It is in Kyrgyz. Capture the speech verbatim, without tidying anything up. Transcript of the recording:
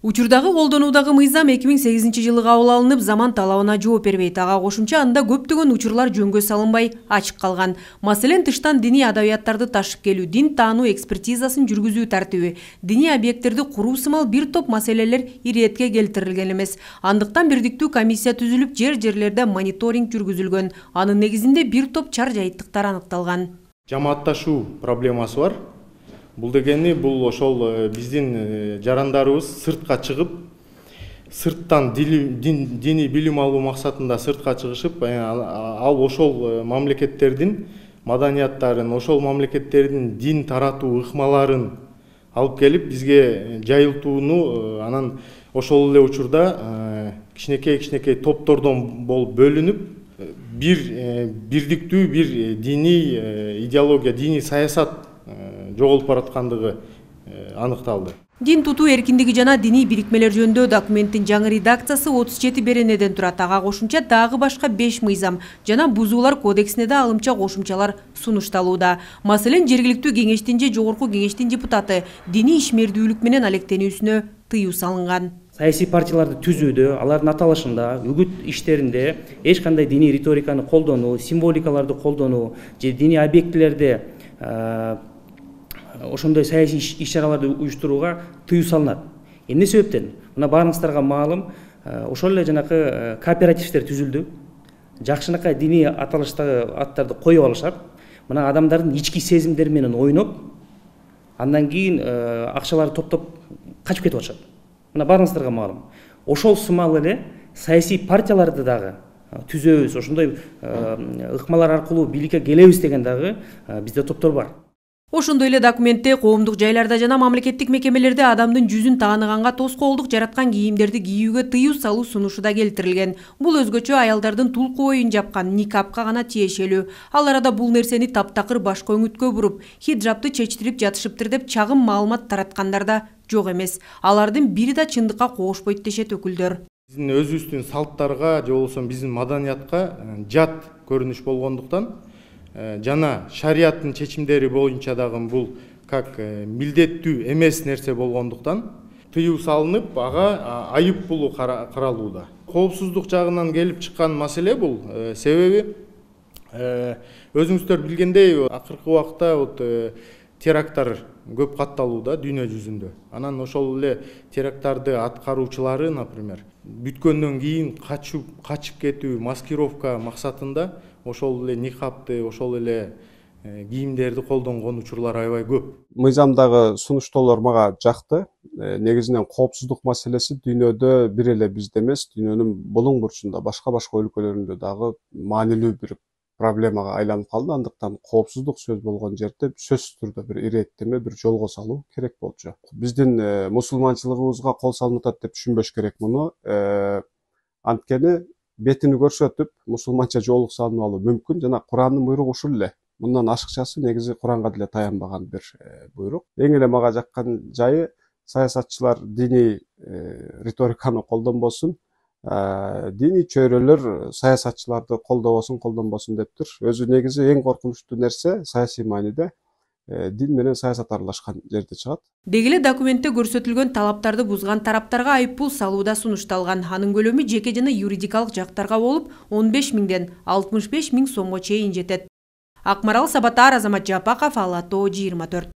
Учурдагы колдонуудагы мыйзам эки миң сегизинчи жылы кабыл алынып, заман талабына жооп бербейт. Ага кошумча анда көптөгөн учурлар жөнгө салынбай ачык калган. Маселен, тыштан диний адабияттарды ташып келүү, дин таануу экспертизасын жүргүзүү тартиби, диний объекттерди куруу сымал бир топ маселелер иретке келтирилген эмес. Андыктан бирдиктүү комиссия түзүлүп, жер-жерлерде мониторинг жүргүзүлгөн. Анын негизинде бир топ чар жайыттыктар аныкталган. Жамаатташуу проблемасы бар. Бул дегени бул ошол биздин жарандарыбыз сыртка чыгып, сырттан диний билим алуу максатында сыртка чыгышып, ал ошол мамлекеттердин маданияттарын, ошол мамлекеттердин дин таратуу ыкмаларын алып келип бизге жайылтууну, анан ошол эле учурда кичинекей-кичинекей топтордон болуп бөлүнүп, бир бирдиктүү бир диний идеология, диний саясат жоголуп бараткандыгы аныкталды. Дин тутуу эркиндиги жана диний бирикмелер жөнүндө документтин жаңы редакциясы отуз жети беренеден турат. Ага кошумча дагы башка беш мыйзам жана бузуулар кодексине да алымча кошумчалар сунушталууда. Маселен, жергиликтүү кеңештин же жогорку кеңештин депутаты диний ишмердүүлүк менен алектенүүсүнө тыюу салынган. Саясий партияларды түзүүдө, алардын аталышында, үгүт иштеринде эч кандай диний риториканы колдонуу, символикаларды колдонуу же диний объектилерде ошондой саясий иш-чараларды уюштурууга тыюу салынат. Эмне себептен? Мына баарыңыздарга маалым, ошол эле жанакы кооперативдер түзүлдү. Жакшынакай диний аталыштагы аттарды коюп алышат. Мына адамдардын ички сезимдери менен ойноп, андан кийин акчаларды топтоп качып кетип атышат. Мына баарыңыздарга маалым. Ошол сымал эле саясий партияларды дагы түзөбүз, ошондой ыкмалар аркылуу бийликке келебиз деген дагы бизде топтор бар. Ошондой эле документте коомдук жайларда жана мамлекеттик мекемелерде адамдын жүзүн тааныганга тоскоолдук жараткан кийимдерди кийүүгө тыюу салуу сунушу да келтирилген. Бул өзгөчө аялдардын тулку боюн жапкан никапка гана тиешелүү. Ал арада бул нерсени таптакыр башка өңүткө буруп, хиджабты чечтирип жатышыптыр деп чагым маалымат тараткандар да жок эмес. Алардын бири да чындыкка коошпойт дешет өкүлдөр. Биздин өзүбүздүн салттарга же болбосо биздин маданиятка жат көрүнүш болгондуктан жана шариаттын чечимдери боюнча дагы бул как милдеттүү эмес нерсе болгондуктан тыюу салынып, ага айып пулу каралууда. Коопсуздук жагынан келип чыккан маселе бул. Себеби өзүңүздөр билгендей, акыркы убакта вот теракттар көп катталууда дүйнө жүзүндө. Анан ошол эле теракттарды аткаруучулары, например, бүткөндөн кийин качып качып кетүү, маскировка максатында ошол эле никапты, ошол эле кийимдерди колдонгон учурлар аябай көп. Мыйзамдагы сунуштоолор мага жакты. Негизинен коопсуздук маселеси дүйнөдө бир эле бизде эмес, дүйнөнүн булуң бурчунда, башка-башка өлкөлөрүндө дагы маанилүү бир проблемага айланып калды. Андыктан коопсуздук сөз болгон жерде сөзсүз түрдө бир иреттеме, бир жолго салуу керек болчу. Биздин мусулманчылыгыбызга кол салынып атат деп түшүнбөш керек муну. Анткени бетини көрсөтүп, мусулманча жоолук салынып алуу мүмкүн жана Курандын буйругу ушул эле. Мындан ашыкчасы негизи Куранга деле таянбаган бир буйрук. Эң эле мага жаккан жайы саясатчылар диний риториканы колдонбосун, диний чөйрөлөр саясатчыларды колдобосун, колдонбосун дептир. Өзү негизи эң коркунучтуу нерсе саясий мааниде дин менен саясат аралашкан жерде чыгат. Деги эле документте көрсөтүлгөн талаптарды бузган тараптарга айыппул салуу да сунушталган. Анын көлөмү жеке жана юридикалык жактарга болуп он беш миңден алтымыш беш миң сомго чейин жетет. Акмарал Сабатар, Азамат Жапаков, Ала Тоо жыйырма төрт.